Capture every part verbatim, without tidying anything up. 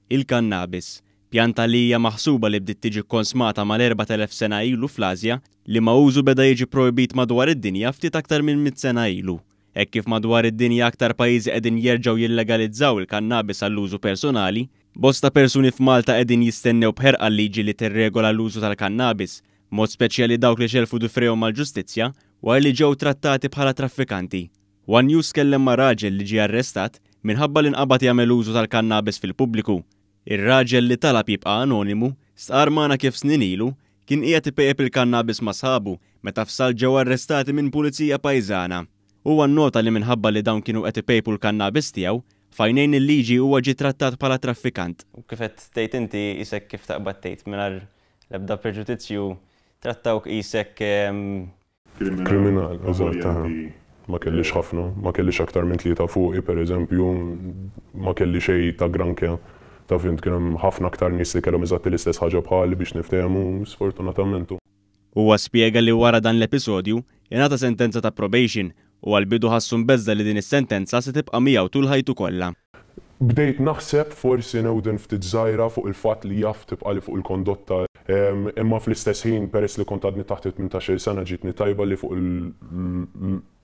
Il-kannabis, pjanta li hija maħsuba li bdiet tiġi konsmata mal-erbat elef sena ilu fl-Asja, li ma użu beda jiġi projbit madwar id-dinja ftit aktar minn mitt sena ilu. Hekk kif madwar id-dinja aktar pajjiżi qegħdin jerġgħu jillegalizzaw il-kannabis għall-użu personali, bosta persuni f'Malta qegħdin jistennew b'ħerqa l-liġi li tirregola l-użu tal-kannabis, mod speċjali dawk li xelfu difrejhom mal-ġustizzja wara li ġew trattati bħala traffikanti. One News kellem ma' raġel li ġie arrestat minħabba li nqabad jagħmel użu tal-kannabis fil-pubbliku. Ir-raġel, li talab jibqa' anonimu, stqar magħna kif snin ilu kien qiegħed ipejjep il-kannabis ma' sħabu meta f'salt ġew arrestati minn pulizija pajżana. Huwa nnota li minħabba li dawn kienu qed ipejpu l-kannabis tiegħu, f'għajnejn il-liġi huwa ġie trattat bħala traffikant. U kif qed tgħid inti, isek kif taqbad tgħid mingħajr l-ebda preġudizzju, trattawk isek Kriminal, eżatt. Ma kellix ħafna, ma kellix aktar minn tlieta fuqi, per eżempju, ma kelli xejn ta' granché. Ta' fint kien hemm ħafna aktar nies li kellhom eżatt l-istess ħaġa bħali biex niftehmu, sfortunatament. Huwa spjega li wara dan l-episodju ingħata sentenza ta' probation u għal-bidu ħassu mbeżża' li din is-sentenza se tibqa' miegħu tul ħajtu kollha. Bdejt naħseb forsi newden ftit żgħira fuq il-fatt li jaf tibqa' li fuq il-kondotta, imma fl-istess ħin, peress li kont għadni taħt it-tmintax-il sena, ġietni tajba li fuq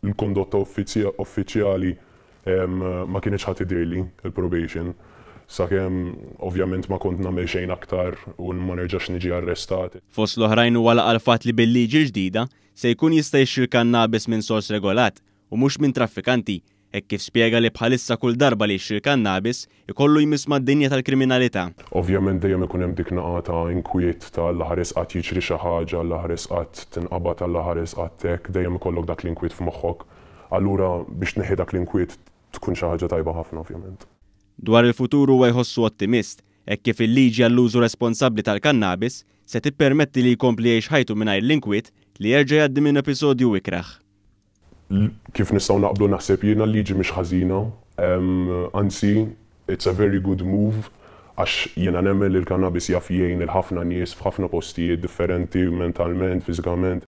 il-kondotta uffiċjali ma kienx ħadd idirli il-probation. Sakemm ovvjament ma kont nagħmel xejn aktar u ma nerġax niġi arrestat. Fost l-oħrajn huwa laqa l-fatt li bil-liġi ġdida se jkun jista' jixtri l-kannabis minn sors regolat u mhux minn traffikanti, hekk kif spjega li bħalissa kull darba li jixtri l-kannabis ikollu jmiss mad-dinja tal-kriminalità. Ovvjament dejjem ikun hemm dik naqa ta' inkwiet ta' l-ħares qatt jiġri xi ħaġa, l-ħares qatt tinqabad, l-ħares qatt hekk, dejjem ikollok dak l-inkwiet f'moħħok. Allura biex tneħħi dak l-inkwiet tkun xi ħaġa tajba ħafna, ovvjament. Dwar il-futur huwa jħossu ottimist, hekk kif il-liġi għall-użu responsabbli tal-kannabis se tippermetti li jkompli jgħix ħajtu mingħajr l-inkwiet li jerġa' jgħaddi minn episodju ikrah. Kif nistgħu naqblu, naħseb jiena, l-liġi mhix ħażina, anzi it's a very good move, għax jiena nemmen li l-kannabis jaf jgħin il ħafna nies f'ħafna postijiet differenti, mentalment, fiżikament.